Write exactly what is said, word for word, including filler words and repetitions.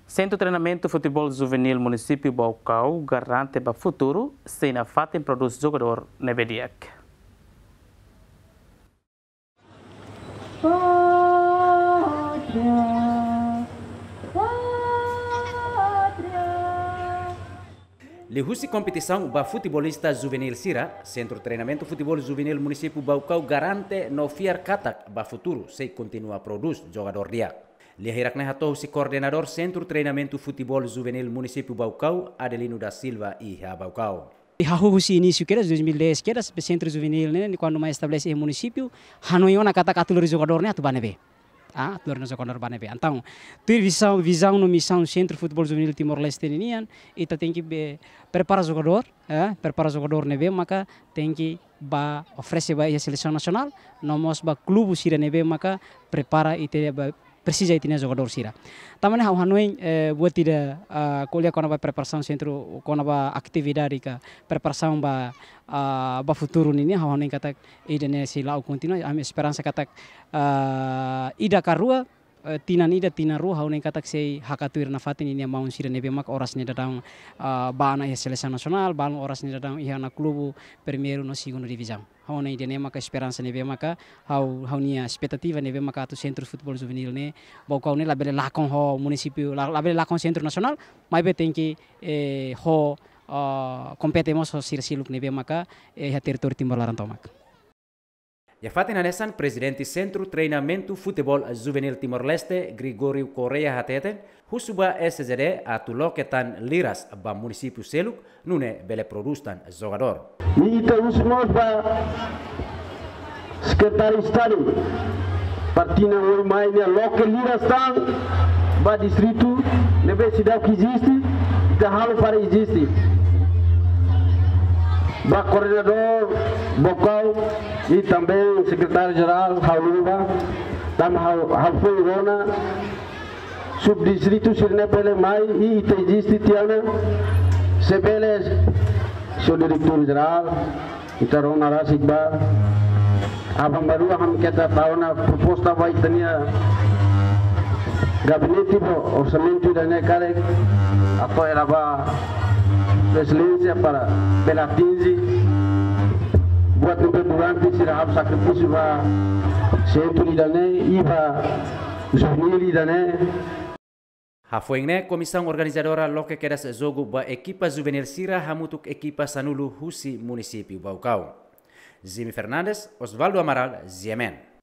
Sentru Treinamentu Futeból Juvenil Munisípiu Baucau garante ba futuru, sei nafatin prodús jogadór ne'ebé di'ak. Liuhusi kompetisaun ba futebolista juvenil sira, Sentru Treinamentu Futeból Juvenil Munisípiu Baucau garante no fiar katak ba futuru sei kontinua prodús jogadór di'ak. Lia hirak-ne'e hato'o husi koordenadór Sentru Treinamentu Futeból Juvenil Munisípiu Baucau, Adelino da Silva, iha Baucau. Hahú husi inísiu kedas, dois mil e dez kedas, be sentru juvenil ne'e, kuandu mai estabelese iha munisípiu, hanoin ona katak atu lori jogadór ne'e atu ba ne'ebé. Ah, atu lori ona jogadór ba ne'ebé. Entaun, tuir vizaun, vizaun no misaun Sentru Futeból Juvenil Timor-Leste ninian, ita tenke be prepara jogadór, eh, prepara jogadór ne'ebé maka tenke ba oferese ba iha selesaun nasionál, no mós ba klube sira ne'ebé maka prepara ita-nia ba presiza ita-nia jogadór sira. Tanba ne'e ha'u hanoin, eh, buat ida, ah, ko'alia kona-ba preparasaun sentru, kona-ba atividade ka preparasaun ba, ah, ba futuru nian, ha'u hanoin katak ida-ne'e sei la'o kontinua, ami esperansa katak, ah, ida ka rua, eh, tinan ida, tinan rua, ha'u hanoin katak sei hakat tuir nafatin ninia maun sira ne'ebé mak oras ne'e daudaun, ah, ba ona iha selesaun nasionál, balun oras ne'e daudaun iha ona klube primeiru no segundu divizaun. Ha'u hanoin ida-ne'e maka esperansa ne'ebé maka ha'u, ha'u-nia espetativa ne'ebé maka atu Sentru Futeból Juvenil ne'e, Baucau ne'e labele lakon ho munisípiu, la-, labele lakon Sentru Nasionál, maibé tenke, eh, ho, ah, kompete mós ho sira seluk ne'ebé maka, eh, iha territóriu Timor laran tomak. Iha fatin hanesan, Prezidente Sentru Treinamentu Futeból Juvenil Timor-Leste, Gregório Correia, hateten, husu ba S J D atu loke tan liras ba munisípiu seluk, nune'e bele prodús tan jogadór. I ita husu mós ba Sekretáriu Estadu, para tinan oin mai ne'e loke liras tan ba distritu ne'ebé seidauk eziste, ita halo para eziste. Ba koordenadór Baucau i também Sekretáriu Jerál, ha'u lubah, tanba ha'u, ha'u foin rona, subdistritu sira-ne'e bele mai i ita eziste tiha ona, se bele, señór Diretór Jerál, ita rona rasik ba, aban-bainrua ami keta tau ona proposta ba ita-nia gabinete ba orsamentu ida-ne'e karik, atu hela ba Sua Exelénsia para bele atinje buat ne'ebé durante sira halo sakrifísiu ba sentru ida-ne'e i ba juvenil ida-ne'e. Hafoin ne'e, komisaun organizadora loke kedas jogu ba ekipa juvenil sira hamutuk ekipa sanulu husi munisípiu Baucau. Jimmy Fernandes, Osvaldo Amaral, G M N.